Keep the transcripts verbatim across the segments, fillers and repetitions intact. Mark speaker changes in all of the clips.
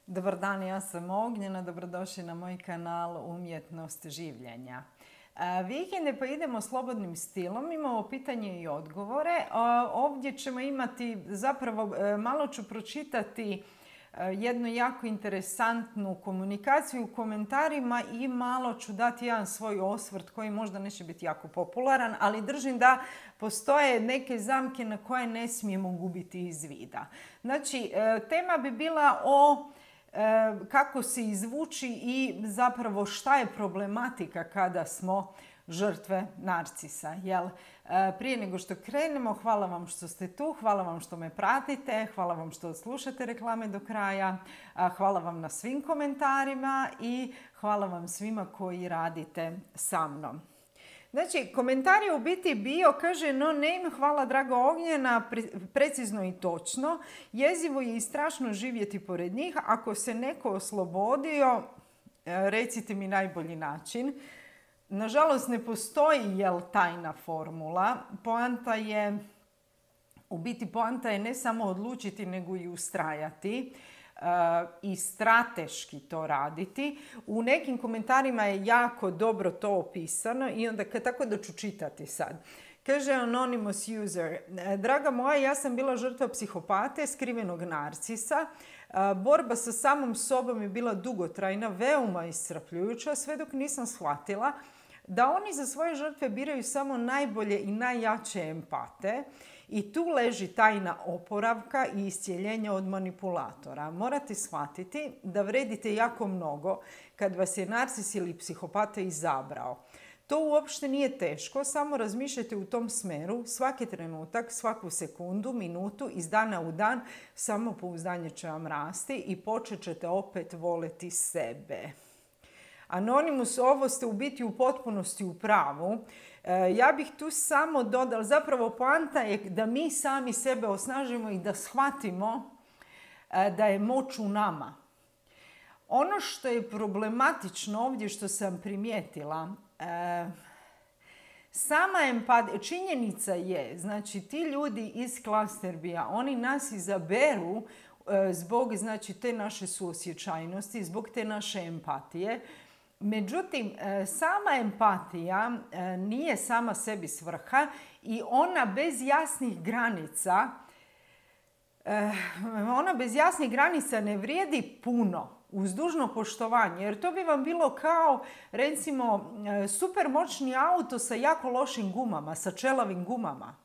Speaker 1: Dobar dan, ja sam Ognjena, dobrodošli na moj kanal Umjetnost življenja. Vikende pa idemo slobodnim stilom, imamo pitanje i odgovore. Ovdje ćemo imati, zapravo malo ću pročitati jednu jako interesantnu komunikaciju u komentarima i malo ću dati jedan svoj osvrt koji možda neće biti jako popularan, ali držim da postoje neke zamke na koje ne smijemo gubiti iz vida. Znači, tema bi bila o kako se izvući i zapravo šta je problematika kada smo žrtve narcisa. Jel? Prije nego što krenemo, hvala vam što ste tu, hvala vam što me pratite, hvala vam što slušate reklame do kraja, hvala vam na svim komentarima i hvala vam svima koji radite sa mnom. Znači, komentar je u biti bio, kaže, no name, hvala draga Ognjena, precizno i točno. Jezivo je i strašno živjeti pored njih. Ako se neko oslobodio, recite mi najbolji način. Nažalost, ne postoji jel tajna formula. Poanta je, u biti poanta je ne samo odlučiti, nego i ustrajati. I strateški to raditi. U nekim komentarima je jako dobro to opisano i onda tako da ću čitati sad. Kaže Anonymous user, draga moja, ja sam bila žrtva psihopate, skrivenog narcisa. Borba sa samom sobom je bila dugotrajna, veoma iscrpljujuća, sve dok nisam shvatila da oni za svoje žrtve biraju samo najbolje i najjače empate. I tu leži tajna oporavka i iscijeljenja od manipulatora. Morate shvatiti da vredite jako mnogo kad vas je narcis ili psihopata izabrao. To uopšte nije teško, samo razmišljajte u tom smeru svaki trenutak, svaku sekundu, minutu, iz dana u dan, samopouzdanje će vam rasti i počet ćete opet voleti sebe. Anonymous, ovo ste u biti u potpunosti u pravu. Ja bih tu samo dodala, zapravo poanta je da mi sami sebe osnažimo i da shvatimo da je moć u nama. Ono što je problematično ovdje što sam primijetila, sama empatija, činjenica je, znači ti ljudi iz Klasterbija, oni nas izaberu zbog znači, te naše suosjećajnosti, zbog te naše empatije. Međutim, sama empatija nije sama sebi svrha i ona bez jasnih granica, ona bez jasnih granica ne vrijedi puno uz dužno poštovanje. Jer to bi vam bilo kao, recimo, super moćni auto sa jako lošim gumama, sa čelavim gumama.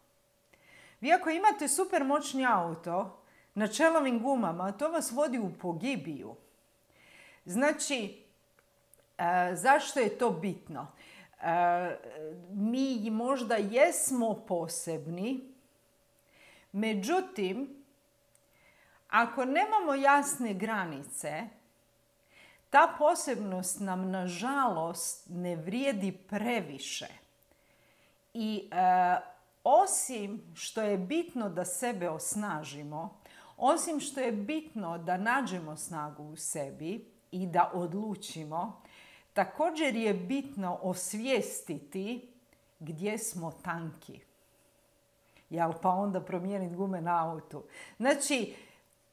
Speaker 1: Vi ako imate super moćni auto na čelavim gumama, to vas vodi u pogibiju. Znači, E, zašto je to bitno? E, mi možda jesmo posebni, međutim, ako nemamo jasne granice, ta posebnost nam nažalost ne vrijedi previše. I e, osim što je bitno da sebe osnažimo, osim što je bitno da nađemo snagu u sebi i da odlučimo, također je bitno osvijestiti gdje smo tanki. Jel pa onda promijeniti gume na autu. Znači,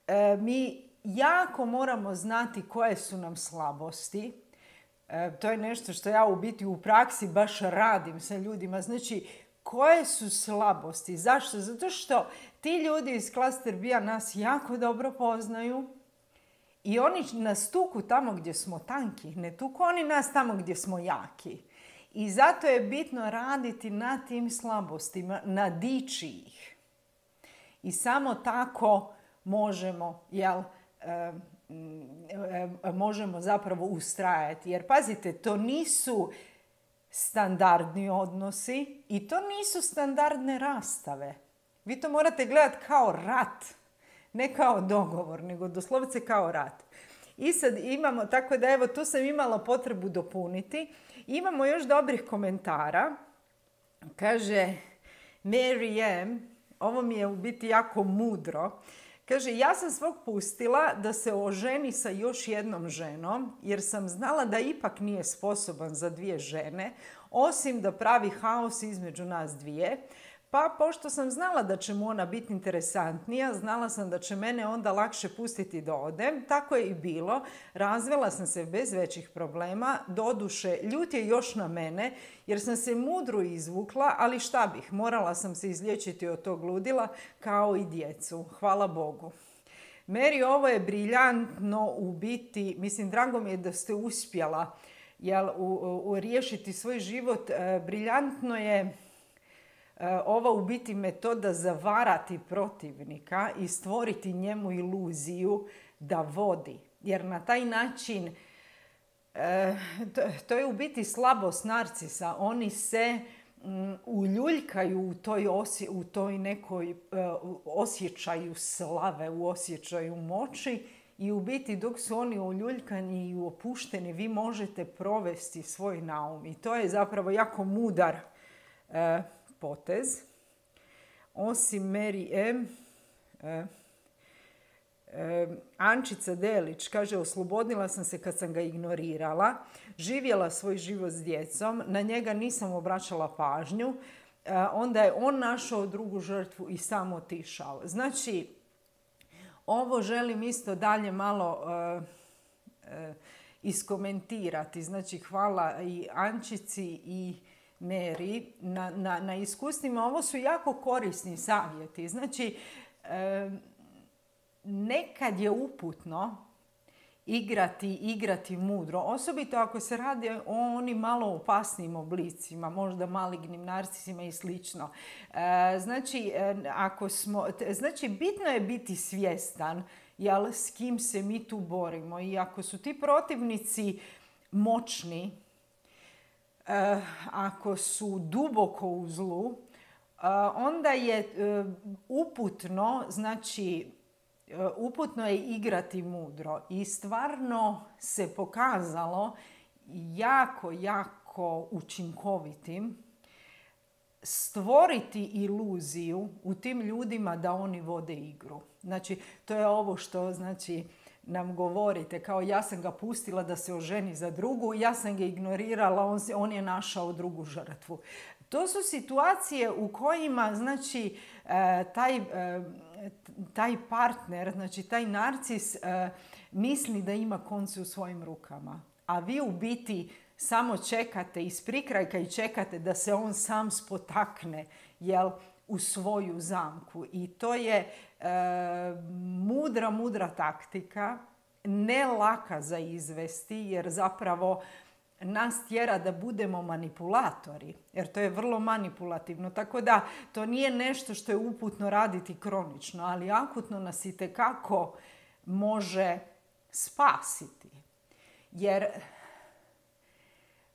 Speaker 1: e, mi jako moramo znati koje su nam slabosti. E, to je nešto što ja u biti u praksi baš radim sa ljudima. Znači, koje su slabosti? Zašto? Zato što ti ljudi iz Klasterbija nas jako dobro poznaju. I oni nas tuku tamo gdje smo tanki, ne tuku oni nas tamo gdje smo jaki. I zato je bitno raditi na tim slabostima, nadići ih. I samo tako možemo, jel, e, e, možemo zapravo ustrajati. Jer pazite, to nisu standardni odnosi i to nisu standardne rastave. Vi to morate gledati kao rat. Ne kao dogovor, nego doslovce kao rat. I sad imamo, tako da evo tu sam imala potrebu dopuniti. Imamo još dobrih komentara. Kaže Mary M, ovo mi je u biti jako mudro. Kaže, ja sam svog pustila da se oženi sa još jednom ženom, jer sam znala da ipak nije sposoban za dvije žene, osim da pravi haos između nas dvije. Pa Pa pošto sam znala da će mu ona biti interesantnija, znala sam da će mene onda lakše pustiti da odem. Tako je i bilo. Razvela sam se bez većih problema. Doduše, ljut je još na mene jer sam se mudro izvukla, ali šta bih, morala sam se izliječiti od tog ludila kao i djecu. Hvala Bogu. Mary, ovo je briljantno u biti, mislim, drago mi je da ste uspjela jel, u, u, riješiti svoj život. E, briljantno je e, ova u biti metoda zavarati protivnika i stvoriti njemu iluziju da vodi. Jer na taj način, e, to, to je u biti slabost narcisa. Oni se uljuljkaju u toj, osje, u toj nekoj uh, osjećaju slave, u osjećaju moći i u biti dok su oni uljuljkani i opušteni vi možete provesti svoj naum. I to je zapravo jako mudar uh, potez. Osim Mary M. Uh, Ančica Delić kaže, oslobodila sam se kad sam ga ignorirala, živjela svoj život s djecom, na njega nisam obraćala pažnju, onda je on našao drugu žrtvu i sam otišao. Znači, ovo želim isto dalje malo uh, uh, iskomentirati. Znači, hvala i Ančici i Mary na, na, na iskustvima. Ovo su jako korisni savjeti. Znači, uh, nekad je uputno igrati, igrati mudro. Osobito ako se radi o onim malo opasnijim oblicima, možda malignim narcisima i slično. E, znači, ako smo, znači, bitno je biti svjestan jel, s kim se mi tu borimo. I ako su ti protivnici moćni, e, ako su duboko u zlu, e, onda je e, uputno, znači, uputno je igrati mudro i stvarno se pokazalo jako, jako učinkovitim stvoriti iluziju u tim ljudima da oni vode igru. Znači, to je ovo što znači, nam govorite, kao ja sam ga pustila da se oženi za drugu, ja sam ga ignorirala, on, se, on je našao drugu žrtvu. To su situacije u kojima znači, taj, taj partner, znači taj narcis misli da ima konce u svojim rukama. A vi u biti samo čekate iz prikrajka i čekate da se on sam spotakne jel, u svoju zamku. I to je e, mudra, mudra taktika, ne laka za izvesti jer zapravo nas tjera da budemo manipulatori, jer to je vrlo manipulativno. Tako da to nije nešto što je uputno raditi kronično, ali akutno nas itekako može spasiti. Jer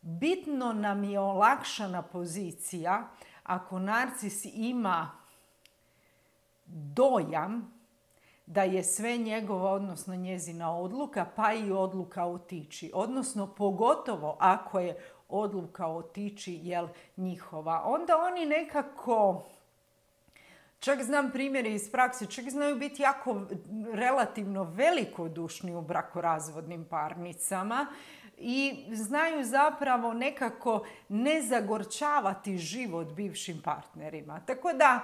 Speaker 1: bitno nam je olakšana pozicija ako narcis ima dojam da je sve njegova, odnosno njezina odluka, pa i odluka otići. Odnosno, pogotovo ako je odluka otići, jel, njihova. Onda oni nekako, čak znam primjere iz prakse, čak znaju biti jako relativno velikodušni u brakorazvodnim parnicama i znaju zapravo nekako ne zagorčavati život bivšim partnerima. Tako da,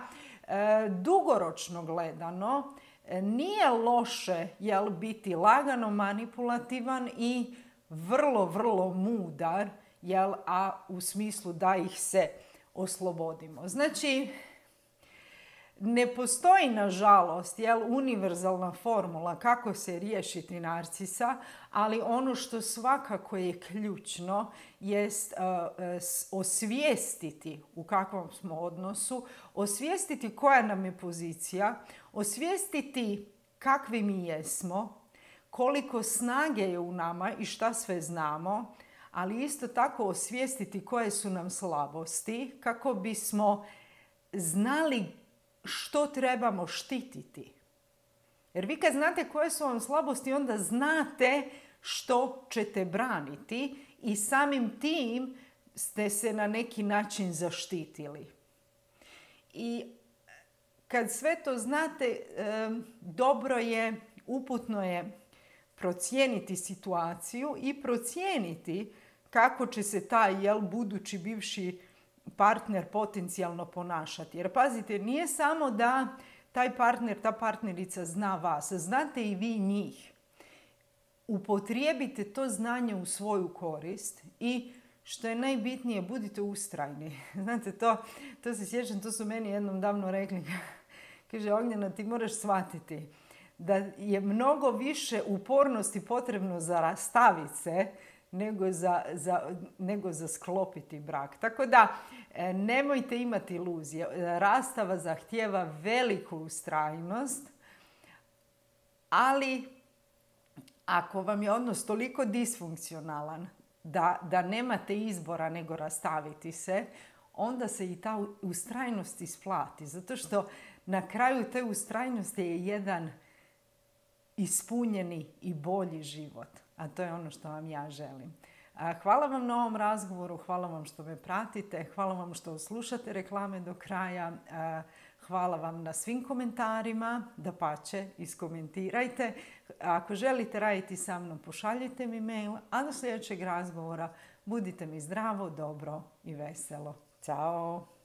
Speaker 1: e, dugoročno gledano, nije loše jel, biti lagano manipulativan i vrlo, vrlo mudar, jel, a u smislu da ih se oslobodimo. Znači, ne postoji, nažalost, jel, univerzalna formula kako se riješiti narcisa, ali ono što svakako je ključno jest uh, osvijestiti u kakvom smo odnosu, osvijestiti koja nam je pozicija, osvijestiti kakvi mi jesmo, koliko snage je u nama i šta sve znamo, ali isto tako osvijestiti koje su nam slabosti kako bismo znali što trebamo štititi. Jer vi kad znate koje su vam slabosti, onda znate što ćete braniti i samim tim ste se na neki način zaštitili. I kad sve to znate, dobro je, uputno je procijeniti situaciju i procijeniti kako će se taj jel, budući bivši partner potencijalno ponašati. Jer pazite, nije samo da taj partner, ta partnerica zna vas, znate i vi njih. Upotrijebite to znanje u svoju korist i što je najbitnije, budite ustrajni. Znate, to, to se sjećam, to su meni jednom davno rekli. Kaže, Ognjena, ti moraš shvatiti da je mnogo više upornosti potrebno za rastaviti se nego za, za, nego za sklopiti brak. Tako da, nemojte imati iluzije. Rastava zahtijeva veliku ustrajnost, ali ako vam je odnos toliko disfunkcionalan da, da nemate izbora nego rastaviti se, onda se i ta ustrajnost isplati. Zato što na kraju te ustrajnosti je jedan ispunjeni i bolji život. A to je ono što vam ja želim. Hvala vam na ovom razgovoru, hvala vam što me pratite, hvala vam što slušate reklame do kraja, hvala vam na svim komentarima, dapače, iskomentirajte. Ako želite raditi sa mnom, pošaljite mi mail, a do sljedećeg razgovora budite mi zdravo, dobro i veselo. Ćao!